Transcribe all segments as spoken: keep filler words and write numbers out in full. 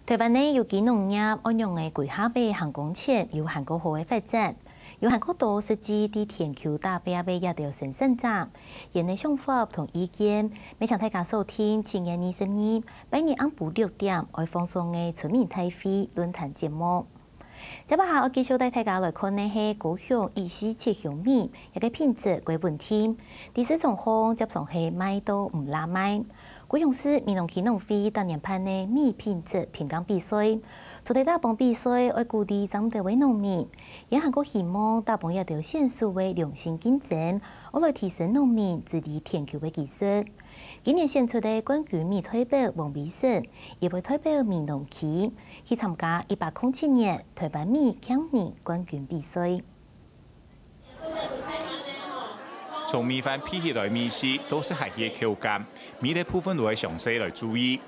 台灣个有機農業愛仰仔歸下擺行光前有還過好个發展，有還過多實際在田坵打拚个這兜生產者，𠊎个想法同意見，乜請大家鎖定七月二十二，拜二暗晡六點愛放送个村民大會論壇節目。 接下來愛繼續帶大家來看个係高雄一四七香米，這个品質較穩定，在市場項輒常係賣到毋罅賣。高雄市美濃區農會逐年辦个米品質評鑑比賽，除忒打榜比賽愛鼓勵正兜个農民，𠊎還過希望打榜這兜選手个良性競爭，愛來提升農民治理田坵个技術。 今年選出个冠軍米代表王維生，也會代表美濃區去參加一百空七年台灣米競爭冠軍比賽。從米飯焙起來米時，到食下去个口感，每一部分都愛詳細來注意。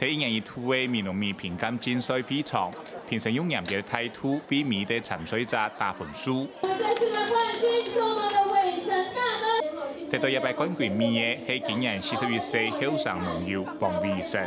在一年一度个美濃米評鑑競賽會場，評審用嚴格个態度為每一个參賽者打分數。我們這次的冠軍是我們的偉成大哥。 得到這擺冠軍米个係今年四十一歲後生農友王維生。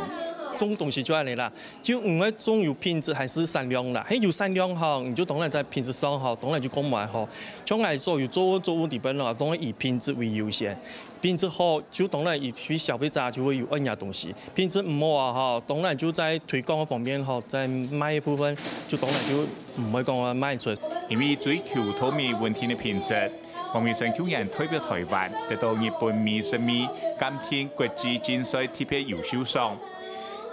種東西就恁仔啦，就毋會種有品質還係產量啦。係有產量吼，你就當然在品質上吼，當然就講毋會好。像𠊎所有作物作物裡背咯，當然以品質為優先。品質好，就當然以對消費者就會有恁樣東西。品質毋好啊吼，當然就在推廣个方面吼，在賣个部分就當然就毋會講賣出。因為追求稻米穩定个品質， 王維生舊年代表台灣得到日本米食米鑑定國際競賽特別優秀賞。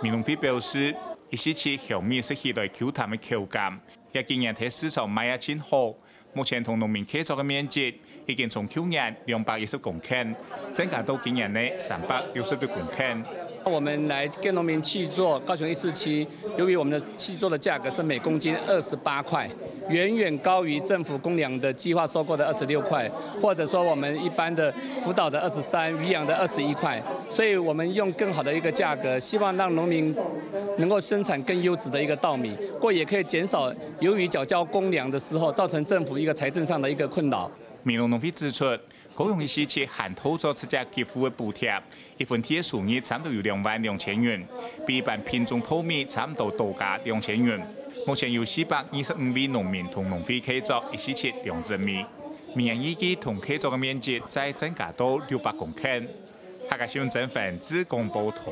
美農會表示，一四七香米食起來Q彈个口感，這今年在市場賣啊盡好。目前同農民契作个面積已經從舊年兩百一十公頃，增加到今年个三百六十六公頃。 我們來跟農民契作，高雄一四七，由於我們的契作的價格是每公斤二十八塊，遠遠高於政府公糧的計劃收購的二十六塊，或者說我們一般的輔導的二十三，漁養的二十一塊，所以我們用更好的一個價格，希望讓農民能夠生產更優質的一個稻米，過也可以減少由於繳交公糧的時候造成政府一個財政上的一個困擾。美濃農會指出， 高雄一四七還透早自家給付个補貼，一分地个收入差毋多有兩萬兩千元，比一般品種稻米差毋多多加兩千元。目前有四百二十五位農民同農會契作一四七兩隻米，明年預計同契作个面積再增加到六百公頃。客家新聞曾煥志廣播道。